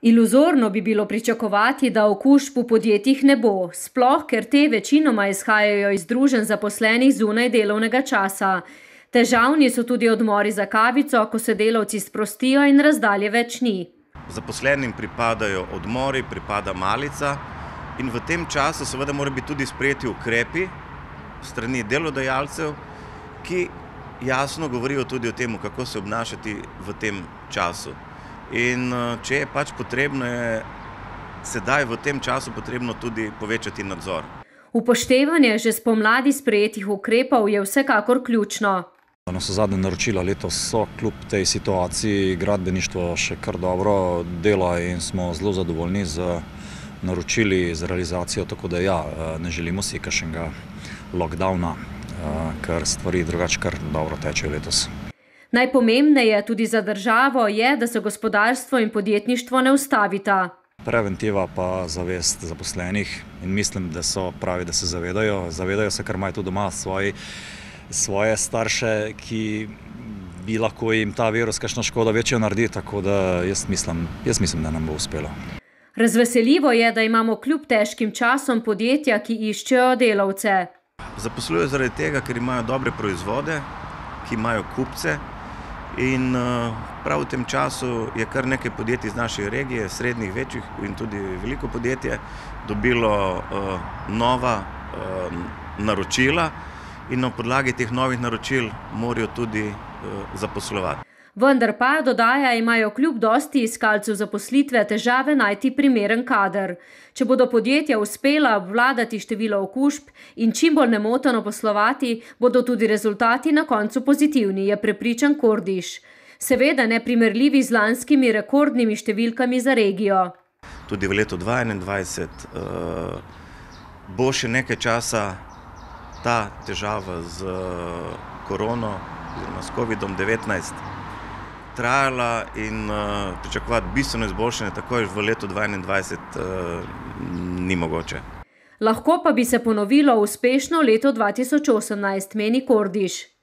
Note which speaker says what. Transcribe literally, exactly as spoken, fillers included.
Speaker 1: Iluzorno bi bilo pričakovati, da okužb v podjetjih ne bo, sploh ker te večinoma izhajajo iz druženj zaposlenih zunaj delovnega časa. Težavni so tudi odmori za kavico, ko se delavci sprostijo in razdalje več ni.
Speaker 2: Zaposlenim pripadajo odmori, pripada malica in v tem času seveda mora biti tudi sprejeti ukrepi strani delodajalcev, ki jasno govorijo tudi o tem, kako se obnašati v tem času. In če je pač potrebno, je sedaj v tem času potrebno tudi povečati nadzor.
Speaker 1: Upoštevanje že spomladi sprejetih ukrepov je vsekakor ključno.
Speaker 3: Navsezadnje naročila letos so kljub tej situaciji gradbeništvo še kar dobro dela in smo zelo zadovoljni z naročili, z realizacijo, tako da ja, ne želimo si kakšnega lockdowna, ker stvari drugače kar dobro tečejo letos.
Speaker 1: Najpomembneje tudi za državo je, da se gospodarstvo in podjetništvo ne ustavita.
Speaker 3: Preventiva pa zavest zaposlenih in mislim, da so pravi, da se zavedajo. Zavedajo se, ker imajo tudi doma svoji, svoje starše, ki bi lahko jim ta virus kakšno škodo večjo naredi, tako da jaz mislim, jaz mislim, da nam bo uspelo.
Speaker 1: Razveseljivo je, da imamo kljub težkim časom podjetja, ki iščejo delavce.
Speaker 2: Zaposlujejo zaradi tega, ker imajo dobre proizvode, ki imajo kupce. In prav v tem času je kar nekaj podjetij iz naše regije, srednjih, večjih in tudi veliko podjetje, dobilo nova naročila in na podlagi teh novih naročil morajo tudi zaposlovati.
Speaker 1: Vendar pa, dodaja, imajo kljub dosti iskalcev zaposlitve težave najti primeren kader. Če bodo podjetja uspela obvladati število okužb in čim bolj nemoteno poslovati, bodo tudi rezultati na koncu pozitivni, je prepričan Kordiš. Seveda neprimerljivi z lanskimi rekordnimi številkami za regijo.
Speaker 2: Tudi v letu dva tisoč enaindvajset bo še nekaj časa ta težava z korono oziroma s kovidom devetnajst trajala in pričakovati bistveno izboljšanje takoj v letu dva tisoč enaindvajset ni mogoče.
Speaker 1: Lahko pa bi se ponovilo uspešno leto dva tisoč osemnajst, meni Kordiš.